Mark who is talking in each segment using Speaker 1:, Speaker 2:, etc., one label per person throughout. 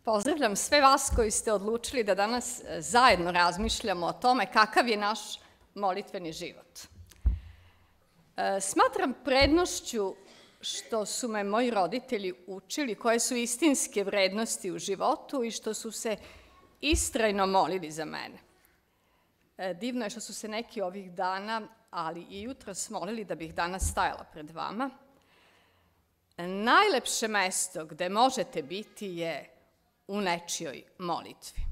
Speaker 1: Pozdravljam sve vas koji ste odlučili da danas zajedno razmišljamo o tome kakav je naš molitveni život. Smatram prednošću što su me moji roditelji učili koje su istinske vrednosti u životu i što su se istrajno molili za mene. Divno je što su se neki ovih dana, ali i jutros molili da bih danas stajala pred vama. Najlepše mesto gde možete biti je u nečijoj molitvi.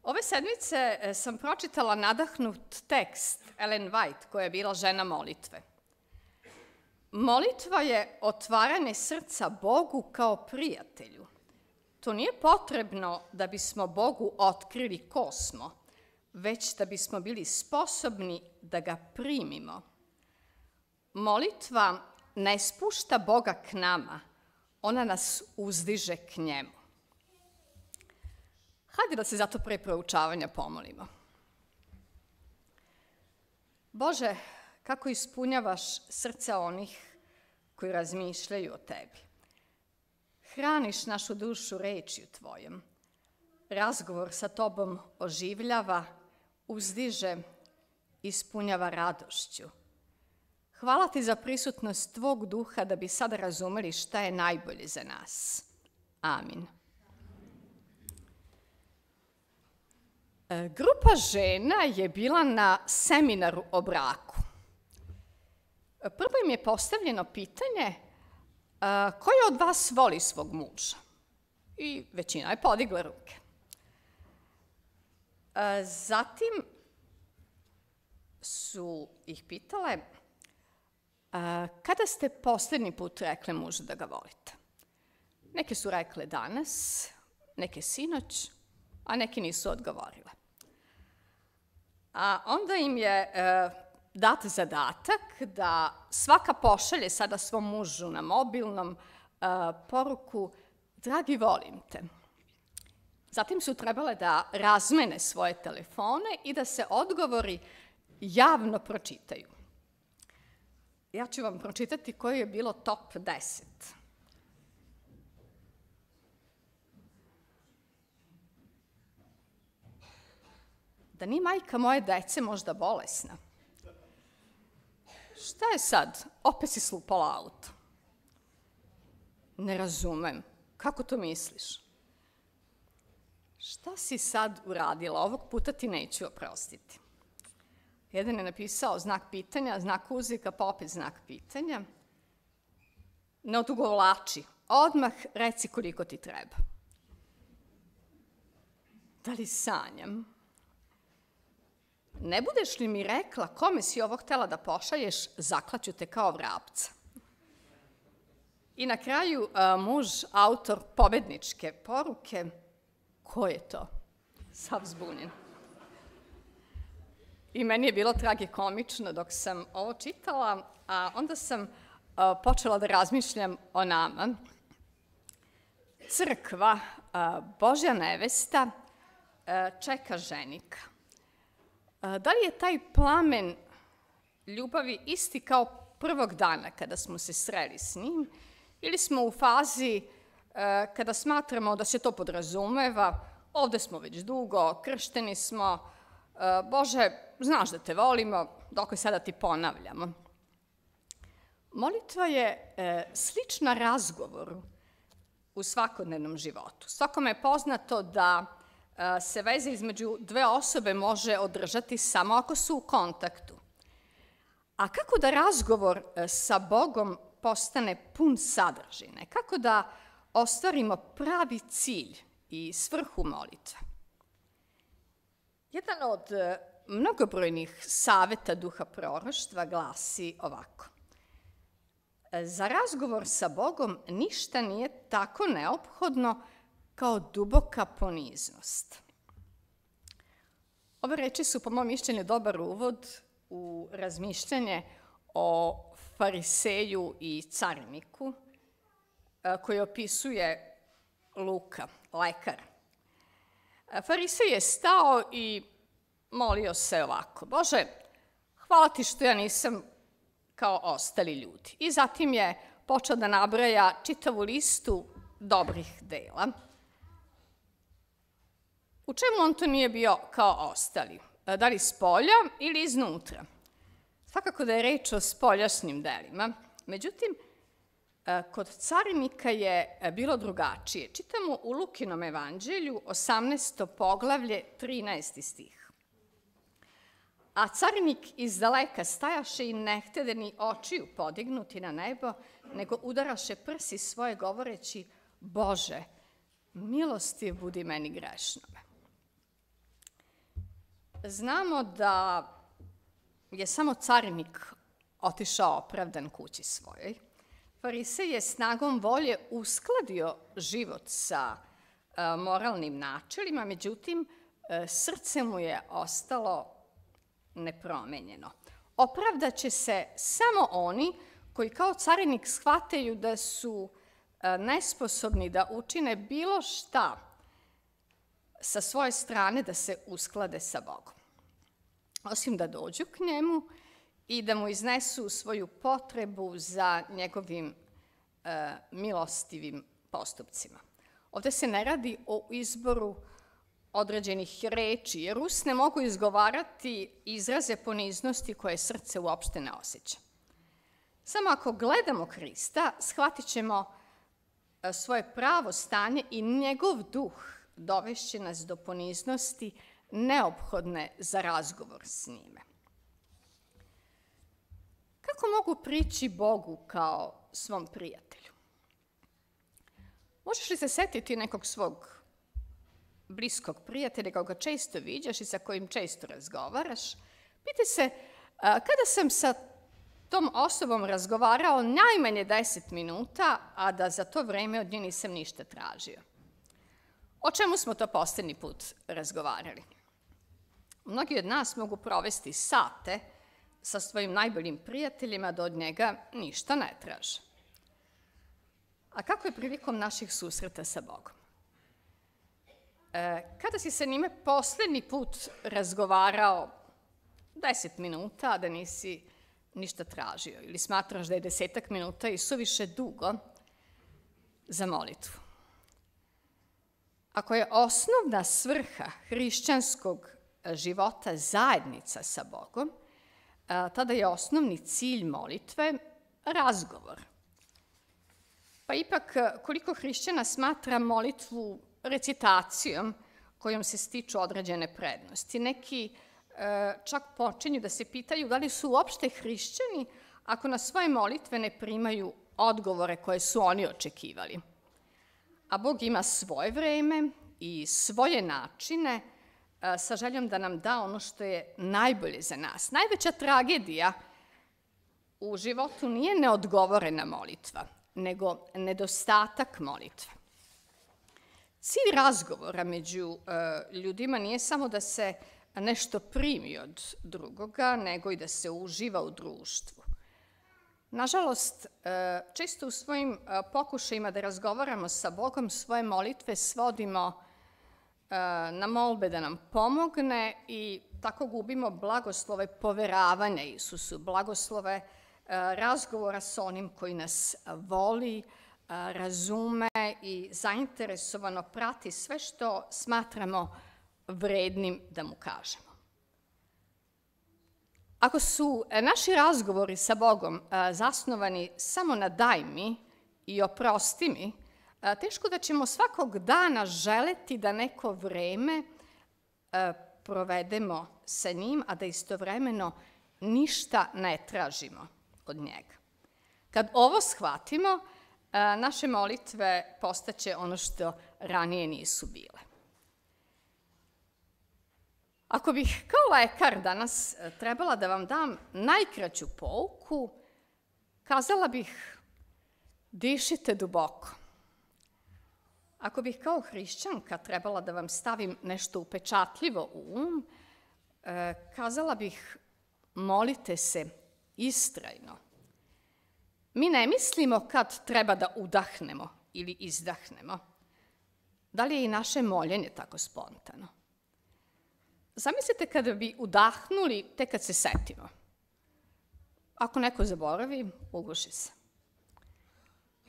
Speaker 1: Ove sedmice sam pročitala nadahnut tekst Ellen White, koja je bila žena molitve. Molitva je otvaranje srca Bogu kao prijatelju. To nije potrebno da bismo Bogu otkrili ko smo, već da bismo bili sposobni da ga primimo. Molitva ne spušta Boga k nama, ona nas uzdiže k njemu. Hajde da se zato pre proučavanja pomolimo. Bože, kako ispunjavaš srca onih koji razmišljaju o tebi. Hraniš našu dušu rečju tvojom. Razgovor sa tobom oživljava, uzdiže, ispunjava radošću. Hvala ti za prisutnost tvog duha da bi sada razumeli šta je najbolje za nas. Amin. Grupa žena je bila na seminaru o braku. Prvo im je postavljeno pitanje koja od vas voli svog muža? I većina je podigla ruke. Zatim su ih pitale kada ste posljednji put rekli mužu da ga volite? Neke su rekle danas, neke sinoć, a neke nisu odgovorile. A onda im je dat zadatak da svaka pošalje sada svom mužu na mobilnom poruku dragi, volim te. Zatim su trebale da razmene svoje telefone i da se odgovori javno pročitaju. Ja ću vam pročitati koje je bilo top 10. Da nije majka moje dece možda bolesna? Šta je sad? Opet si slupala auto. Ne razumem. Kako to misliš? Šta si sad uradila? Ovog puta ti neću oprostiti. Jedan je napisao znak pitanja, znak uzvika, pa opet znak pitanja. Ne odugovlači. Odmah reci koliko ti treba. Da li sanjam? Ne budeš li mi rekla kome si ovo htela da pošalješ, zaklaću te kao vrapca. I na kraju muž, autor pobedničke poruke. Ko je to? Sav zbunjen. I meni je bilo tragikomično dok sam ovo čitala, a onda sam počela da razmišljam o nama. Crkva, Božja nevesta, čeka ženika. Da li je taj plamen ljubavi isti kao prvog dana kada smo se sreli s njim, ili smo u fazi kada smatramo da se to podrazumeva, ovde smo već dugo, kršteni smo, Bože, znaš da te volimo, dok sada ti ponavljamo. Molitva je slična razgovoru u svakodnevnom životu. Svakome je poznato da se veza između dve osobe može održati samo ako su u kontaktu. A kako da razgovor sa Bogom postane pun sadržine? Kako da ostvarimo pravi cilj i svrhu molitve? Jedan od mnogobrojnih saveta duha proroštva glasi ovako. Za razgovor sa Bogom ništa nije tako neophodno kao duboka poniznost. Ove reči su, po mom mišljenju, dobar uvod u razmišljanje o fariseju i cariniku, koji opisuje Luka, lekar. Farisej je stao i molio se ovako. Bože, hvala ti što ja nisam kao ostali ljudi. I zatim je počeo da nabraja čitavu listu dobrih dela. U čemu on to nije bio kao ostali? Da li spolja ili iznutra? Svakako da je reč o spoljašnjim delima. Međutim, kod carinika je bilo drugačije. Čitamo u Lukinom evanđelju 18. poglavlje 13. stih. A carinik iz daleka stajaše i ne htede ni očiju podignuti na nebo, nego udaraše prsi svoje govoreći: Bože, milostiv budi meni grešnome. Znamo da je samo carinik otišao opravdan kući svojoj. Farisej je snagom volje uskladio život sa moralnim načelima, međutim, srce mu je ostalo nepromenjeno. Opravdaće se samo oni koji kao carinik shvataju da su nesposobni da učine bilo šta sa svoje strane da se usklade sa Bogom. Osim da dođu k njemu i da mu iznesu svoju potrebu za njegovim milostivim postupcima. Ovde se ne radi o izboru određenih reči, jer usne mogu izgovarati izraze poniznosti koje srce uopšte ne osjeća. Samo ako gledamo Hrista, shvatit ćemo svoje pravo stanje i njegov duh dovešće nas do poniznosti neophodne za razgovor s njime. Kako mogu prići Bogu kao svom prijatelju? Možeš li se setiti nekog svog bliskog prijatelja koga često viđaš i sa kojim često razgovaraš? Pitaj se, kada sam sa tom osobom razgovarao najmanje 10 minuta, a da za to vreme od nje nisam ništa tražio? O čemu smo to poslednji put razgovarali? Mnogi od nas mogu provesti sate sa svojim najboljim prijateljima da od njega ništa ne traže. A kako je prilikom naših susreta sa Bogom? Kada si sa njime poslednji put razgovarao 10 minuta, a da nisi ništa tražio, ili smatraš da je 10 minuta i suviše dugo za molitvu? Ako je osnovna svrha hrišćanskog života zajednica sa Bogom, tada je osnovni cilj molitve razgovor. Pa ipak, koliko hrišćana smatra molitvu recitacijom kojom se stiču određene prednosti. Neki čak počinju da se pitaju da li su uopšte hrišćani ako na svoje molitve ne primaju odgovore koje su oni očekivali. A Bog ima svoje vreme i svoje načine sa željom da nam da ono što je najbolje za nas. Najveća tragedija u životu nije neodgovorena molitva, nego nedostatak molitve. Cilj razgovora među ljudima nije samo da se nešto primi od drugoga, nego i da se uživa u društvu. Nažalost, često u svojim pokušajima da razgovaramo sa Bogom svoje molitve svodimo na molbe da nam pomogne i tako gubimo blagoslove poveravanja Isusu, blagoslove razgovora sa onim koji nas voli, razume i zainteresovano prati sve što smatramo vrednim da mu kažemo. Ako su naši razgovori sa Bogom zasnovani samo na daj mi i oprosti mi, teško da ćemo svakog dana želeti da neko vreme provedemo sa njim, a da istovremeno ništa ne tražimo od njega. Kad ovo shvatimo, naše molitve postaće ono što ranije nisu bile. Ako bih kao lekar danas trebala da vam dam najkraću pouku, kazala bih: dišite duboko. Ako bih kao hrišćanka trebala da vam stavim nešto upečatljivo u kazala bih: molite se istrajno. Mi ne mislimo kad treba da udahnemo ili izdahnemo. Da li je i naše moljenje tako spontano? Zamislite kada bi udahnuli tek kad se setimo. Ako neko zaboravi, uguši se.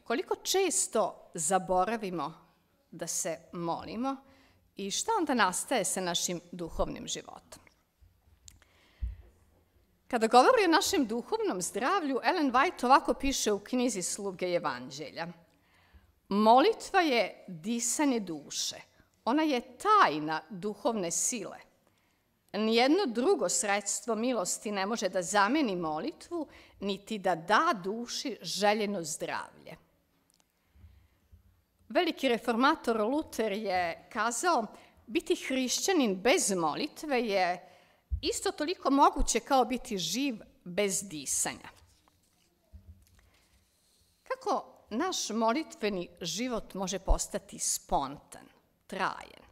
Speaker 1: koliko često zaboravimo da se molimo i šta onda nastaje sa našim duhovnim životom. Kada govori o našem duhovnom zdravlju, Ellen White ovako piše u knjizi Sluge evanđelja. Molitva je disanje duše. Ona je tajna duhovne sile. Nijedno drugo sredstvo milosti ne može da zameni molitvu, niti da da duši željeno zdravlje. Veliki reformator Luter je kazao, biti hrišćanin bez molitve je isto toliko moguće kao biti živ bez disanja. Kako naš molitveni život može postati spontan, trajan?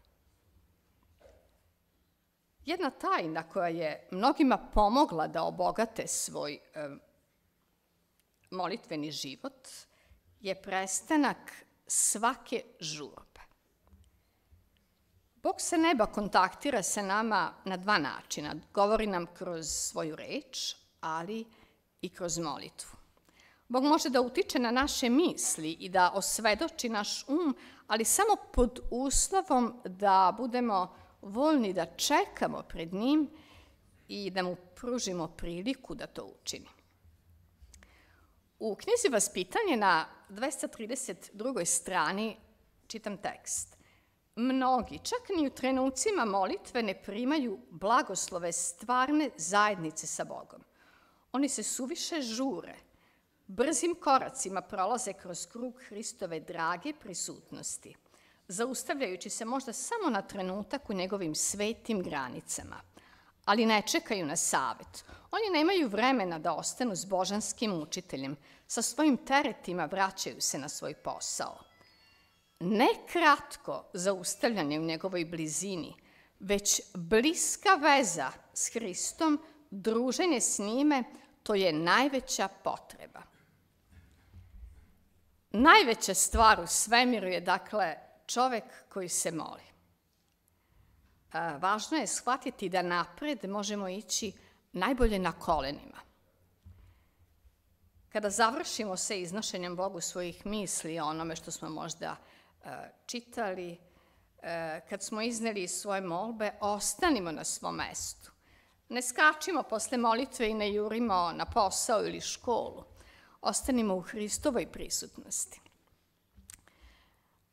Speaker 1: Jedna tajna koja je mnogima pomogla da obogate svoj molitveni život je prestanak svake žurbe. Bog sa neba kontaktira sa nama na dva načina. Govori nam kroz svoju reč, ali i kroz molitvu. Bog može da utiče na naše misli i da osvedoči naš ali samo pod uslovom da budemo voljni da čekamo pred njim i da mu pružimo priliku da to učini. U knjizi Vaspitanje na 232. strani čitam tekst. Mnogi, čak ni u trenucima molitve, ne primaju blagoslove stvarne zajednice sa Bogom. Oni se suviše žure, brzim koracima prolaze kroz krug Hristove drage prisutnosti, zaustavljajući se možda samo na trenutak u njegovim svetim granicama, ali ne čekaju na savet. Oni nemaju vremena da ostanu s božanskim učiteljem, sa svojim teretima vraćaju se na svoj posao. Ne kratko zaustavljanje u njegovoj blizini, već bliska veza s Hristom, druženje s njime, to je najveća potreba. Najveća stvar u svemiru je, dakle, čovek koji se moli. Važno je shvatiti da napred možemo ići najbolje na kolenima. Kada završimo sa iznošenjem Bogu svojih misli o onome što smo možda čitali, kad smo izneli svoje molbe, ostanimo na svom mestu. Ne skačimo posle molitve i ne jurimo na posao ili školu. Ostanimo u Hristovoj prisutnosti.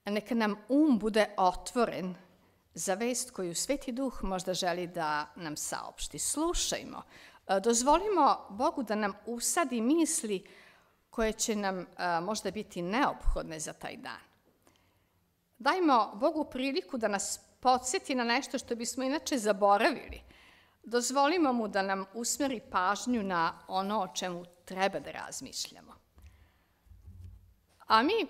Speaker 1: Neka nam bude otvoren za vest koju Sveti Duh možda želi da nam saopšti. Slušajmo, dozvolimo Bogu da nam usadi misli koje će nam možda biti neophodne za taj dan. Dajmo Bogu priliku da nas podsjeti na nešto što bismo inače zaboravili. Dozvolimo mu da nam usmeri pažnju na ono o čemu treba da razmišljamo. A mi,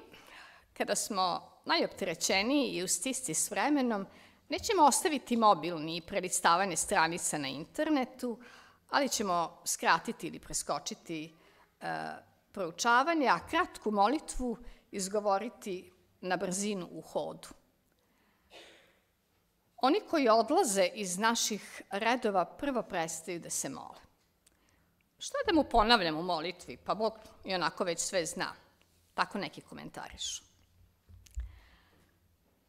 Speaker 1: kada smo najopterećeniji i u stisci s vremenom, nećemo ostaviti mobilni i prelistavanje stranica na internetu, ali ćemo skratiti ili preskočiti proučavanje, a kratku molitvu izgovoriti na brzinu u hodu. Oni koji odlaze iz naših redova prvo prestaju da se mole. Što da mu ponavljam u molitvi? Pa Bog i onako već sve zna. Tako neki komentarišu.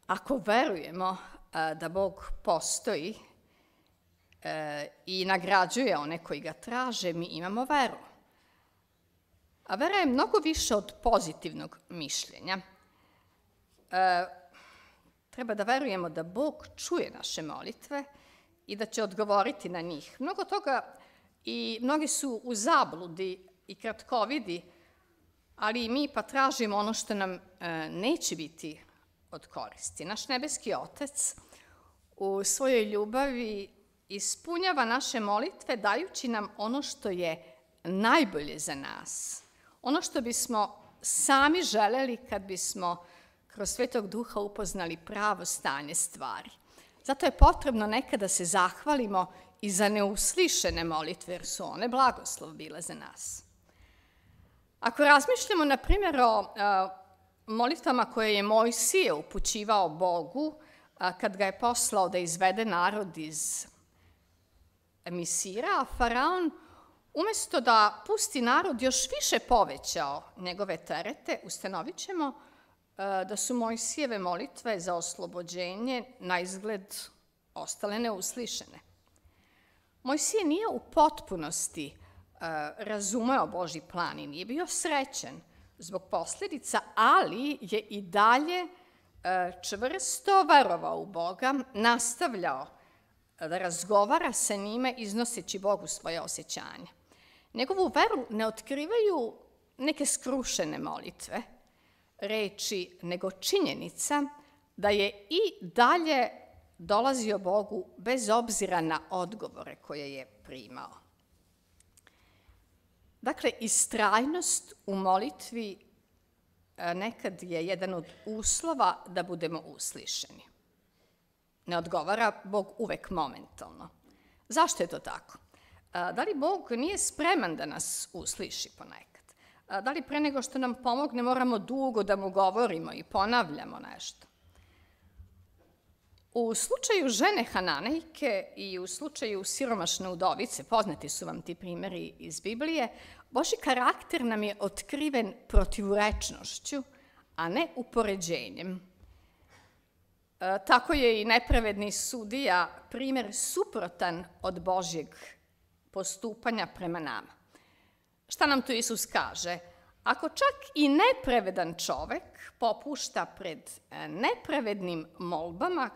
Speaker 1: Ako verujemo da Bog postoji i nagrađuje one koji ga traže, mi imamo veru. A vera je mnogo više od pozitivnog mišljenja. Treba da verujemo da Bog čuje naše molitve i da će odgovoriti na njih. Mnogo toga i mnogi su u zabludi i kratkovidi, ali i mi pa tražimo ono što nam neće biti od koristi. Naš nebeski Otac u svojoj ljubavi ispunjava naše molitve dajući nam ono što je najbolje za nas. Ono što bismo sami želeli kad bismo kroz Svetog Duha upoznali pravo stanje stvari. Zato je potrebno nekada se zahvalimo i za neuslišene molitve, jer su one blagoslov bile za nas. Ako razmišljamo, na primjer, o molitvama koje je Mojsije upućivao Bogu kad ga je poslao da izvede narod iz Misira, a Faraon Umesto da pusti narod još više povećao njegove terete, ustanovit ćemo da su Mojsijeve molitve za oslobođenje na izgled ostale neuslišene. Mojsije nije u potpunosti razumeo Božji plan i nije bio srećen zbog posljedica, ali je i dalje čvrsto verovao u Boga, nastavljao da razgovara sa njime iznoseći Bogu svoje osjećanja. Njegovu veru ne otkrivaju neke skrušene molitve, reči, nego činjenica da je i dalje dolazio Bogu bez obzira na odgovore koje je primao. Dakle, istrajnost u molitvi nekad je jedan od uslova da budemo uslišeni. Ne odgovara Bog uvek momentalno. Zašto je to tako? Da li Bog nije spreman da nas usliši ponekad? Da li pre nego što nam pomogne moramo dugo da mu govorimo i ponavljamo nešto? U slučaju žene Hananejke i u slučaju siromašne udovice, poznati su vam ti primjeri iz Biblije, Božji karakter nam je otkriven protivrečnošću, a ne upoređenjem. Tako je i nepravedni sudija primjer suprotan od Božjeg postupanja prema nama. Šta nam tu Isus kaže? Ako čak i nepravedan čovek popušta pred nepravednim molbama,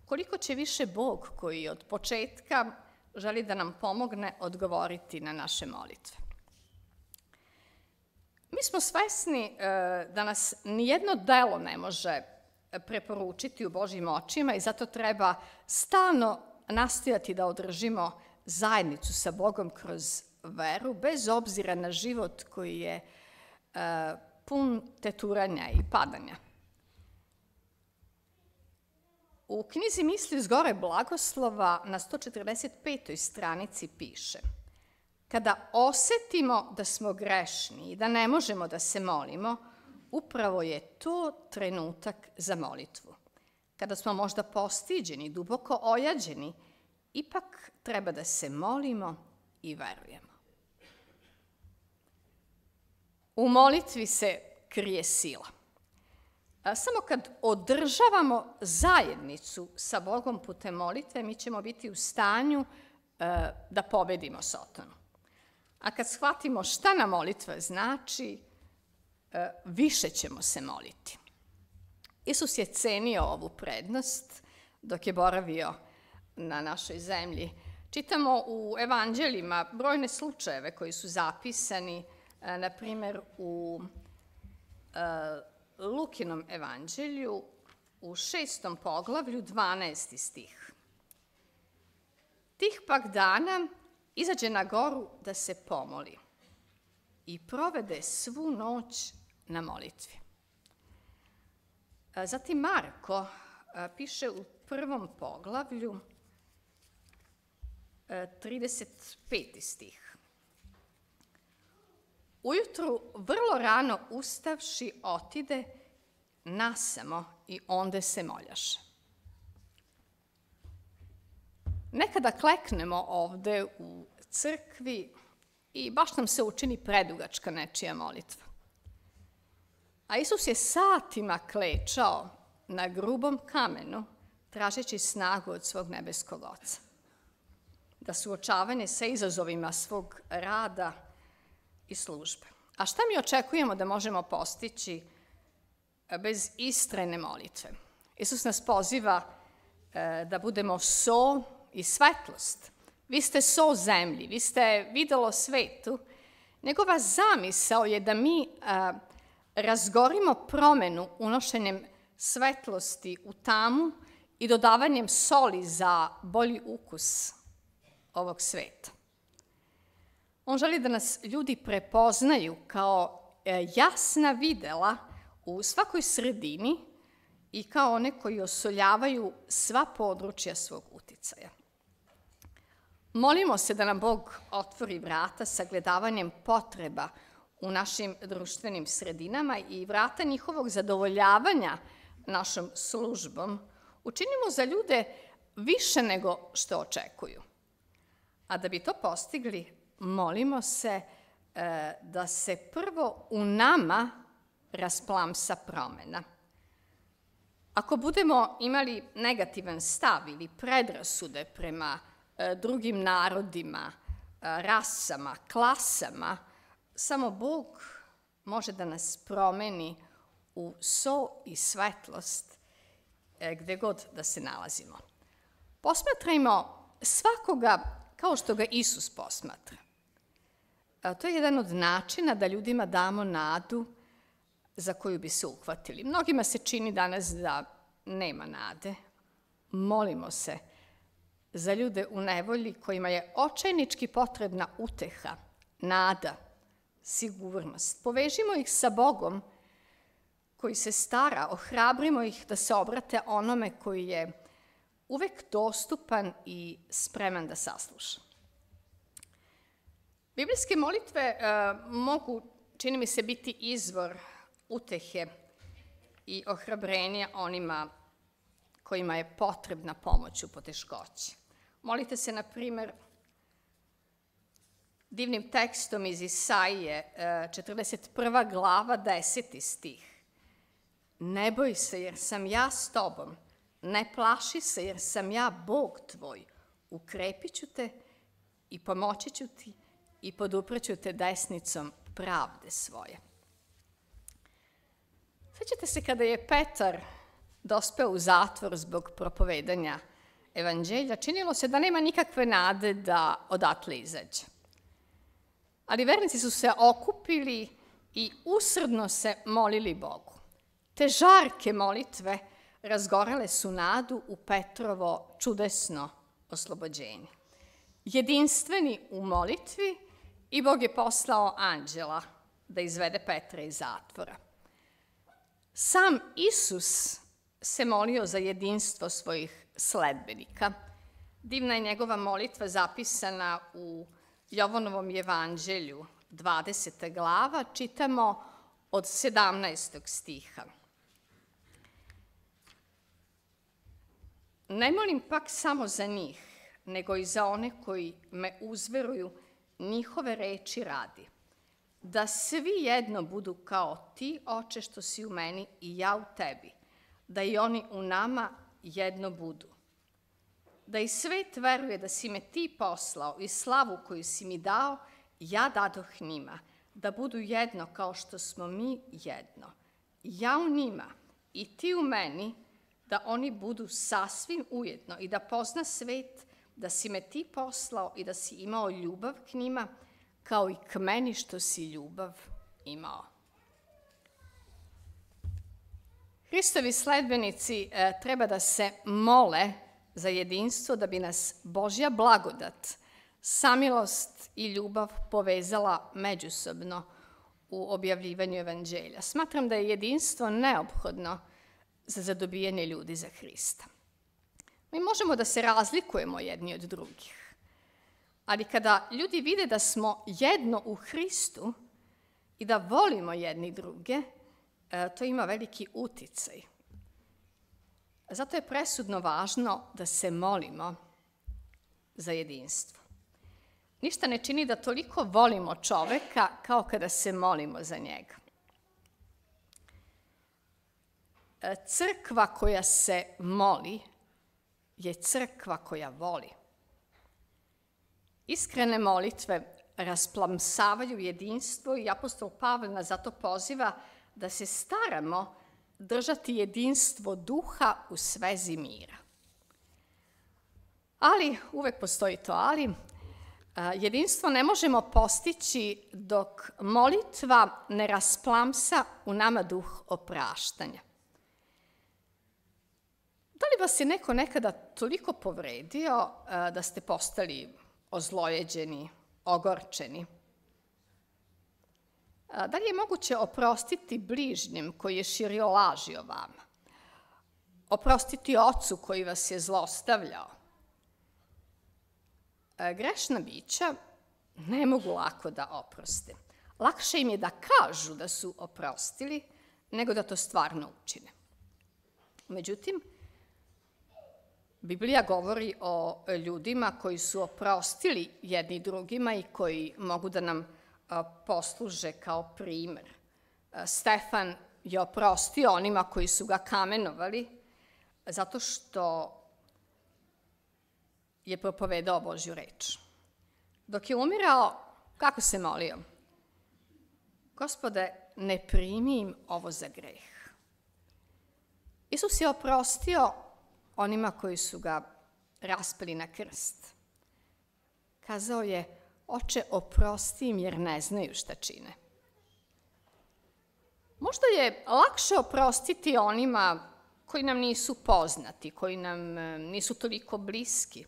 Speaker 1: koliko će više Bog, koji od početka želi da nam pomogne, odgovoriti na naše molitve. Mi smo svesni da nas nijedno delo ne može preporučiti u Božjim očima i zato treba stalno nastojati da održimo zajednicu sa Bogom kroz veru, bez obzira na život koji je pun teturanja i padanja. U knjizi Misli s gore blagoslova na 145. stranici piše: kada osetimo da smo grešni i da ne možemo da se molimo, upravo je to trenutak za molitvu. Kada smo možda postiđeni, duboko ojađeni, ipak treba da se molimo i verujemo. U molitvi se krije sila. Samo kad održavamo zajednicu sa Bogom putem molitve, mi ćemo biti u stanju da pobedimo Satanu. A kad shvatimo šta nam molitva znači, više ćemo se moliti. Isus je cenio ovu prednost dok je boravio na našoj zemlji. Čitamo u evanđeljima brojne slučajeve koji su zapisani, na primjer u Lukinom evanđelju u 6. poglavlju 12. stih. Tih pak dana izađe na goru da se pomoli i provede svu noć na molitvi. Zatim Marko piše u 1. poglavlju 35. stih. Ujutru vrlo rano ustavši otide nasamo i onde se moljaše. Nekada kleknemo ovde u crkvi i baš nam se učini predugačka nečija molitva. A Isus je satima klečao na grubom kamenu, tražeći snagu od svog nebeskog Oca. Da suočavanje sa izazovima svog rada i službe. A šta mi očekujemo da možemo postići bez istrajne molitve? Isus nas poziva da budemo so i svetlost. Vi ste so zemlji, vi ste videlo svetu. Njegova zamisao je da mi razgorimo promenu unošenjem svetlosti u tamu i dodavanjem soli za bolji ukus ovog sveta. On želi da nas ljudi prepoznaju kao jasna videla u svakoj sredini i kao one koji osoljavaju sva područja svog uticaja. Molimo se da nam Bog otvori vrata sagledavanjem potreba u našim društvenim sredinama i vrata njihovog zadovoljavanja našom službom. Učinimo za ljude više nego što očekuju. A da bi to postigli, molimo se da se prvo u nama rasplamsa promena. Ako budemo imali negativan stav ili predrasude prema drugim narodima, rasama, klasama, samo Bog može da nas promeni u so i svetlost gde god da se nalazimo. Posmatrajmo svakoga kao što ga Isus posmatra. To je jedan od načina da ljudima damo nadu za koju bi se uhvatili. Mnogima se čini danas da nema nade. Molimo se za ljude u nevolji kojima je očajnički potrebna uteha, nada, sigurnost. Povežimo ih sa Bogom koji se stara, ohrabrimo ih da se obrate onome koji je uvek dostupan i spreman da sasluša. Biblijske molitve mogu, čini mi se, biti izvor utehe i ohrabrenja onima kojima je potrebna pomoć u poteškoći. Molite se, na primer, divnim tekstom iz Isaije, 41. glava, 10. stih. Ne boj se jer sam ja s tobom, ne plaši se jer sam ja Bog tvoj, ukrepit ću te i pomoći ću ti i podupreću te desnicom pravde svoje. Sećate se kada je Petar dospeo u zatvor zbog propovedanja evanđelja, činilo se da nema nikakve nade da odatle izađe. Ali vernici su se okupili i usrdno se molili Bogu. Te žarke molitve razgorele su nadu u Petrovo čudesno oslobođenje. Jedinstveni u molitvi i Bog je poslao anđela da izvede Petra iz zatvora. Sam Isus se molio za jedinstvo svojih sledbenika. Divna je njegova molitva zapisana u Jovanovom evanđelju, 20. glava, čitamo od 17. stiha. Ne molim pak samo za njih, nego i za one koji me uzveruju njihove reči radi, da svi jedno budu kao ti, Oče, što si u meni i ja u tebi, da i oni u nama jedno budu. Da i svet veruje da si me ti poslao i slavu koju si mi dao, ja dadoh njima, da budu jedno kao što smo mi jedno. Ja u njima i ti u meni, da oni budu sasvim ujedno i da pozna svet da si me ti poslao i da si imao ljubav k njima, kao i k meni što si ljubav imao. Hristovi sledbenici treba da se mole za jedinstvo da bi nas Božja blagodat, samilost i ljubav povezala međusobno u objavljivanju evanđelja. Smatram da je jedinstvo neophodno za zadobijanje ljudi za Hrista. Mi možemo da se razlikujemo jedni od drugih, ali kada ljudi vide da smo jedno u Hristu i da volimo jedni druge, to ima veliki uticaj. Zato je presudno važno da se molimo za jedinstvo. Ništa ne čini da toliko volimo čoveka kao kada se molimo za njega. Crkva koja se moli je crkva koja voli. Iskrene molitve rasplamsavaju jedinstvo i apostol Pavle nas zato poziva da se staramo držati jedinstvo duha u svezi mira. Ali, uvek postoji to ali, jedinstvo ne možemo postići dok molitva ne rasplamsa u nama duh opraštanja. Da li vas je neko nekada toliko povredio da ste postali ozlojeđeni, ogorčeni? Da li je moguće oprostiti bližnjem koji je širio laži o vama? Oprostiti ocu koji vas je zlostavljao? Grešna bića ne mogu lako da oproste. Lakše im je da kažu da su oprostili, nego da to stvarno učine. Međutim, Biblija govori o ljudima koji su oprostili jedni drugima i koji mogu da nam posluže kao primer. Stefan je oprostio onima koji su ga kamenovali zato što je propovedao Božju reč. Dok je umirao, kako se molio? Gospode, ne primi im ovo za greh. Isus je oprostio onima koji su ga raspeli na krst. Kazao je, Oče, oprosti im jer ne znaju šta čine. Možda je lakše oprostiti onima koji nam nisu poznati, koji nam nisu toliko bliski,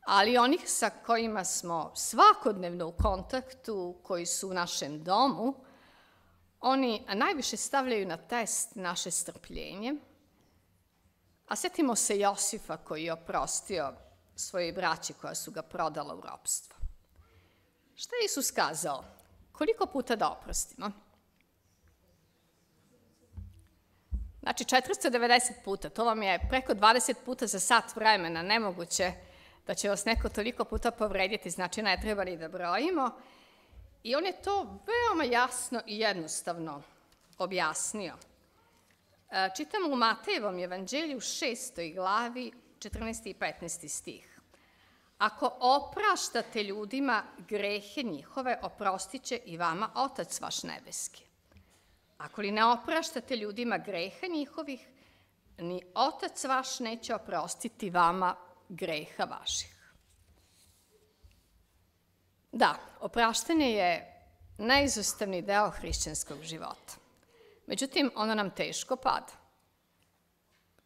Speaker 1: ali onih sa kojima smo svakodnevno u kontaktu, koji su u našem domu, oni najviše stavljaju na test naše strpljenje. A sjetimo se Josifa koji je oprostio svojoj braći koja su ga prodala u ropstvo. Šta je Isus kazao? Koliko puta da oprostimo? Znači 490 puta, to vam je preko 20 puta za sat vremena, nemoguće da će vas neko toliko puta povrediti, znači ne treba ni da brojimo. I on je to veoma jasno i jednostavno objasnio. Čitamo u Matejevom evanđelju 6. glavi 14. i 15. stih. Ako opraštate ljudima grehe njihove, oprostit će i vama Otac vaš nebeski. Ako li ne opraštate ljudima greha njihovih, ni Otac vaš neće oprostiti vama greha vaših. Da, opraštanje je neizostavni deo hrišćanskog života. Međutim, ono nam teško pada.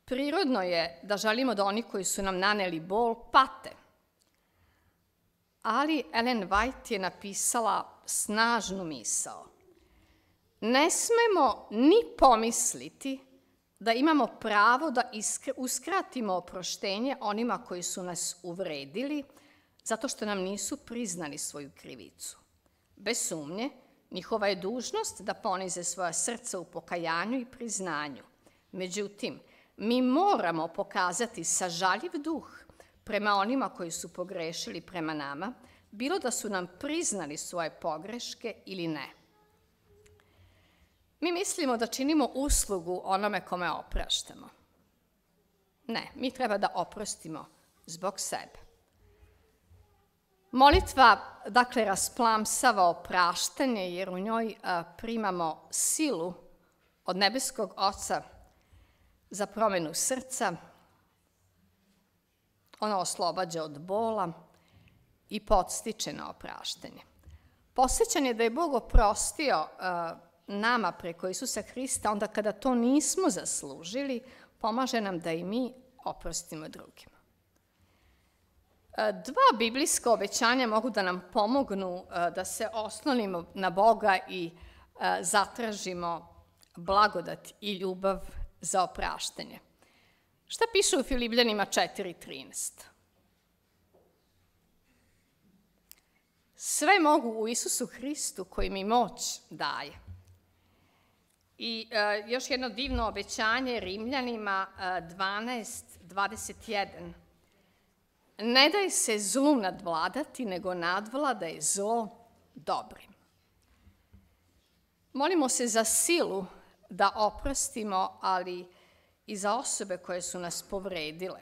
Speaker 1: Prirodno je da želimo da oni koji su nam naneli bol pate. Ali Ellen White je napisala snažnu misao. Ne smemo ni pomisliti da imamo pravo da uskratimo oproštenje onima koji su nas uvredili zato što nam nisu priznali svoju krivicu. Bez sumnje, njihova je dužnost da ponize svoja srca u pokajanju i priznanju. Međutim, mi moramo pokazati sažaljiv duh prema onima koji su pogrešili prema nama, bilo da su nam priznali svoje pogreške ili ne. Mi mislimo da činimo uslugu onome kome opraštamo. Ne, mi treba da oprostimo zbog sebe. Molitva, dakle, rasplamsava opraštanje, jer u njoj primamo silu od nebeskog Oca za promenu srca. Ona oslobađa od bola i podstiče na opraštanje. Podsećanje da je Bog oprostio nama preko Isusa Hrista, onda kada to nismo zaslužili, pomaže nam da i mi oprostimo drugima. Dva biblijska obećanja mogu da nam pomognu da se oslonimo na Boga i zatražimo blagodat i ljubav za opraštanje. Šta piše u Filipljanima 4.13? Sve mogu u Isusu Hristu koji mi moć daje. I još jedno divno obećanje Rimljanima 12.21. Ne daj se zlu nadvladati, nego nadvladaj zlo dobrim. Molimo se za silu da oprostimo, ali i za osobe koje su nas povredile.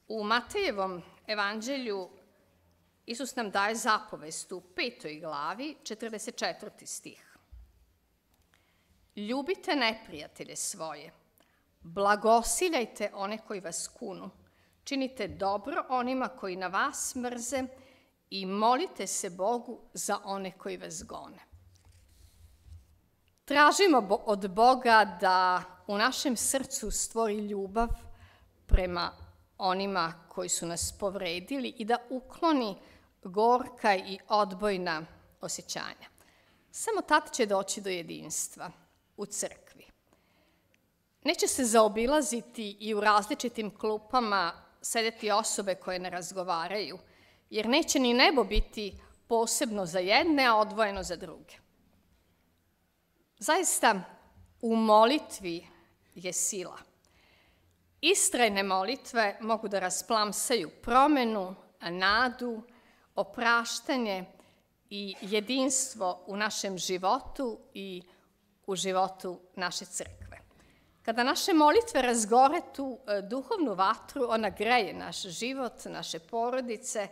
Speaker 1: U Matejevom evanđelju Isus nam daje zapovest u 5. glavi, 44. stih. Ljubite neprijatelje svoje, blagosiljajte one koji vas kunu, činite dobro onima koji na vas mrze i molite se Bogu za one koji vas gone. Tražimo od Boga da u našem srcu stvori ljubav prema onima koji su nas povredili i da ukloni gorka i odbojna osjećanja. Samo tad će doći do jedinstva u crkvi. Neće se zaobilaziti i u različitim klupama sedeti osobe koje ne razgovaraju, jer neće ni nebo biti posebno za jedne, a odvojeno za druge. Zaista, u molitvi je sila. istrajne molitve mogu da rasplamsaju promenu, nadu, opraštanje i jedinstvo u našem životu i u životu naše crkve. Kada naše molitve razgore tu duhovnu vatru, ona greje naš život, naše porodice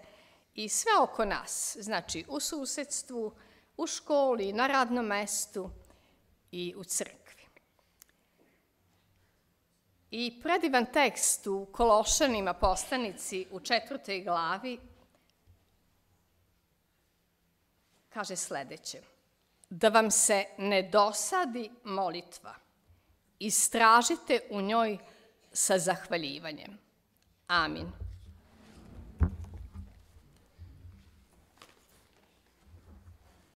Speaker 1: i sve oko nas, znači u susedstvu, u školi, na radnom mestu i u crkvi. I predivan tekst u Kološanima poslanici u 4. glavi kaže sledeće: da vam se ne dosadi molitva, istražite u njoj sa zahvaljivanjem. Amin.